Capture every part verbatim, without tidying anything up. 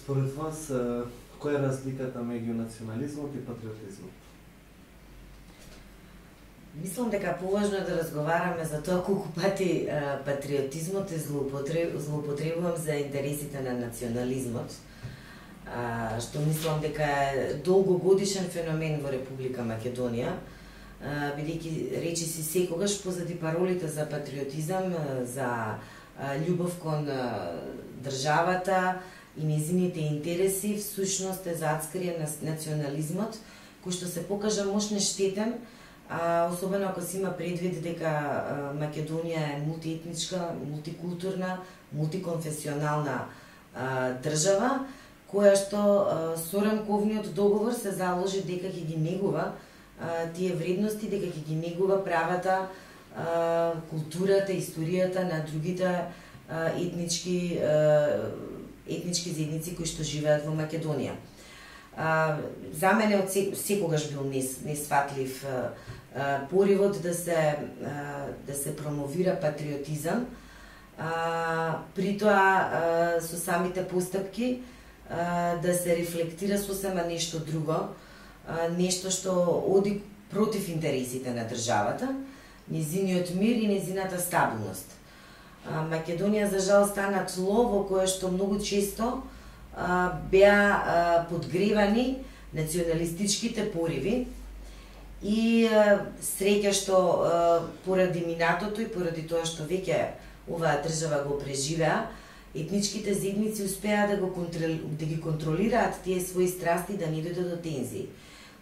Според вас, која е разликата меѓу национализмот и патриотизмот? Мислам дека поважно е да разговараме за тоа колку пати патриотизмот е злоупотребувам за интересите на национализмот, што мислам дека е долгогодишен феномен во Република Македонија, бидејќи речиси секогаш позади паролите за патриотизам, за љубов кон државата и нејзините интереси, всушност е зацкрие на национализмот, кој што се покажа мощно штетен, а, особено ако се има предвид дека а, Македонија е мултиетничка, мултикултурна, мултиконфесионална а, држава, која што а, со рамковниот договор се заложи дека ќе ги негува а, тие вредности, дека ќе ги негува правата, а, културата, историјата на другите а, етнички а, етнички заедници кои што живеат во Македонија. А, за мене од секогаш бил несфатлив поривот да се а, да се промовира патриотизам, а, при тоа со самите постапки а, да се рефлектира сосема нешто друго, а, нешто што оди против интересите на државата, незиниот мир и незината стабилност. Македонија за жал стана тло во кое што многу често а, беа а, подгревани националистичките пориви и а, среќа што а, поради минатото и поради тоа што веќе оваа држава го преживеа, етничките заедници успеа да го контрол, да ги контролираат тие своји страсти да не дојдат до тензии.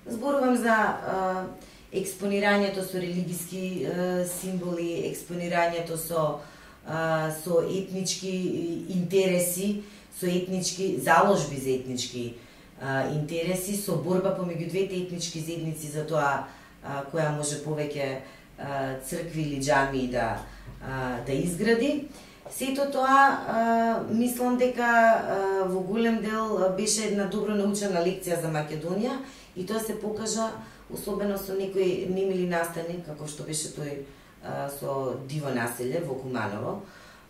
Зборувам за а, експонирањето со религиски а, символи, експонирањето со со етнички интереси, со етнички заложби за етнички а, интереси, со борба помеѓу двете етнички заедници за тоа а, која може повеќе а, цркви или џамии да а, да изгради. Сето тоа а, мислам дека а, во голем дел беше една добро научена лекција за Македонија и тоа се покажа особено со некој немили настани како што беше тој со Диво населје во Куманово,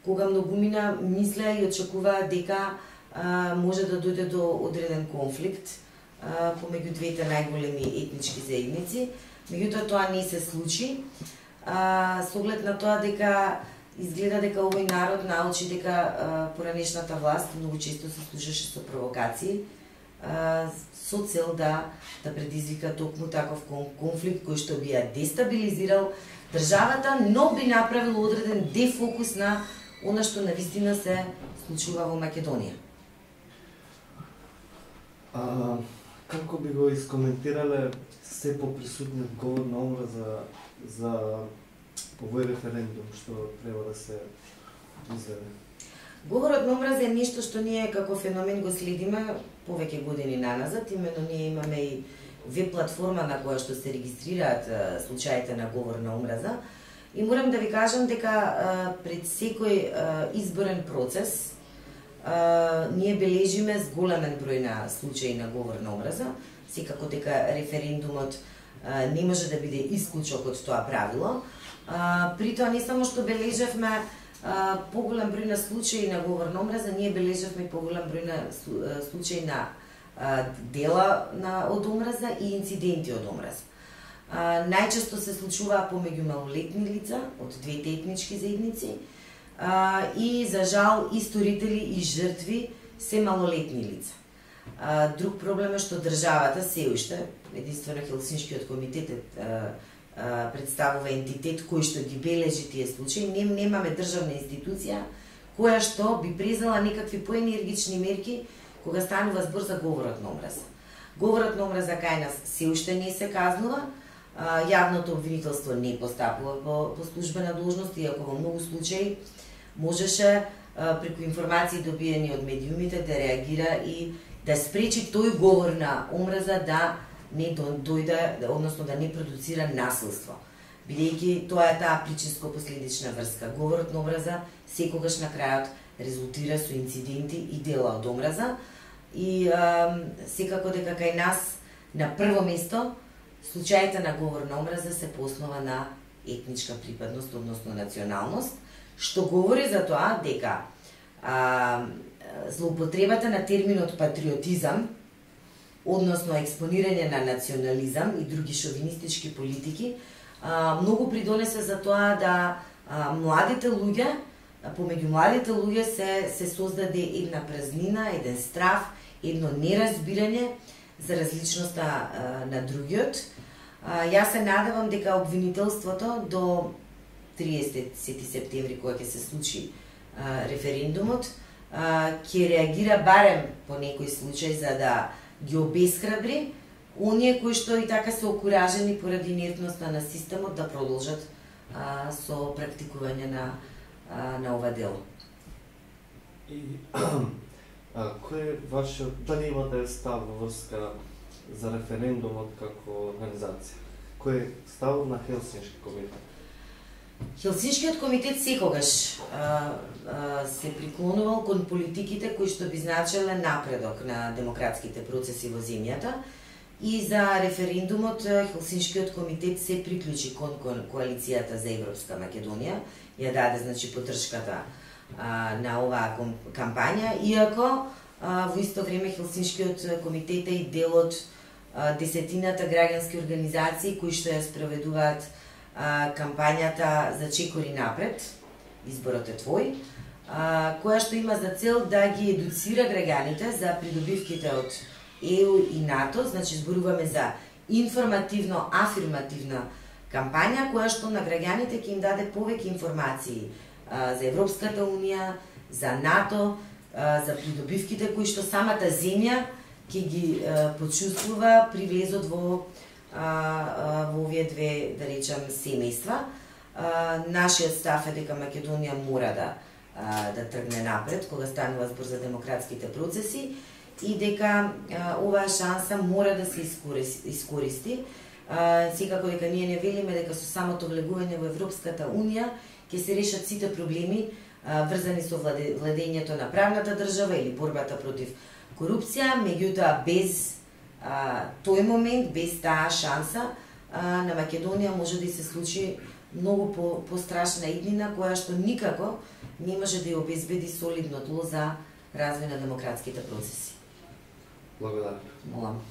кога многумина мислеа и очекуваа дека а, може да дојде до одреден конфликт а, помеѓу двете најголеми етнички заедници. Меѓутоа тоа не се случи, а, со оглед на тоа дека изгледа дека овој народ научи дека а, поранешната власт многу често се служеше со провокации, а, со цел да да предизвика токму таков конфликт кој што би ја дестабилизирал државата, но би направил одреден дефокус на она што навистина се случува во Македонија. А, како би го искоментирале се поприсутниот говор на омраза за овој референдум што треба да се изведе? Говорот на омраза е нешто што ние како феномен го следиме повеќе години наназад, именно ние имаме и веб платформа на која што се регистрираат а, случаите на говор на омраза и морам да ви кажам дека а, пред секој а, изборен процес а, ние бележиме зголемен број на случаи на говор на омраза, секако дека референдумот а, не може да биде исклучок од тоа правило. А, при тоа не само што бележевме а, поголем број на случаи на говор на омраза, ние бележевме поголем број на случаи на дела на од омраза и инциденти од омраза. Најчесто се случуваа помеѓу малолетни лица од двете етнички заедници а, и за жал и сторители и жртви се малолетни лица. А, друг проблем е што државата се уште, единствено Хелсиншкиот комитет а, а, представува ентитет кој што ги бележи тие случаи. Не, немаме државна институција која што би презела некакви поенергични мерки кога станува збор за говорот на омраза. Говорот на омраза кај нас се уште не се казнува, јавното обвинителство не постапува по, по службена должност, иако во многу случаи можеше преку информации добиени од медиумите да реагира и да спречи тој говор на омраза да не дојде, односно да не продуцира насилство. Бидејќи тоа е таа причинско-последична врска. Говорот на омраза секогаш на крајот резултира со инциденти и дела од омраза и а, секако дека кај нас на прво место случаите на говор на омраза се по основа на етничка припадност, односно националност, што говори за тоа дека а, злоупотребата на терминот патриотизам, односно експонирање на национализам и други шовинистички политики, многу придонесе за тоа да младите луѓе, помеѓу младите луѓе се, се создаде една празнина, еден страф, едно неразбирање за различноста на другиот. Јас се надевам дека обвинителството до триесети септември, кога ќе се случи референдумот, ќе реагира барем по некој случај за да ги обесхрабри оние кои што и така се окуражени поради инертноста на системот да продолжат а, со практикување на а, на ова дело. И а, кој е вашиот, дали имате став во врска за референдумот како организација? Кој е ставот на Хелсиншки комитет? Хелсиншкиот комитет секогаш а, а, се приклонувал кон политиките кои што би значеле напредок на демократските процеси во земјата и за референдумот Хелсиншкиот комитет се приклучи кон, кон коалицијата за Европска Македонија, ја даде значи поддршката а, на оваа кампања, иако а, во исто време Хелсиншкиот комитет е и дел од а, десетината граѓански организации кои што ја спроведуваат а, кампањата за Чекори напред, изборот е твој, а, која што има за цел да ги едуцира граѓаните за придобивките од Е У и НАТО, значи зборуваме за информативно-афирмативна кампања која што на граѓаните ќе им даде повеќе информации а, за Европската Унија, за НАТО, а, за придобивките кои што самата земја ќе ги а, почувствува при влезот во а, а, во овие две, да речам, семејства. А, нашиот став е дека Македонија мора да а, да тргне напред кога станува збор за демократските процеси и дека а, оваа шанса мора да се искористи. искористи. А, секако дека ние не велиме дека со самото влегување во Европската Унија ќе се решат сите проблеми а, врзани со владе, владењето на правната држава или борбата против корупција, меѓутоа без а, тој момент, без таа шанса, а, на Македонија може да и се случи многу по, пострашна иднина која што никако не може да ја обезбеди солидно тло за развој на демократските процеси. Благодарам. Молам.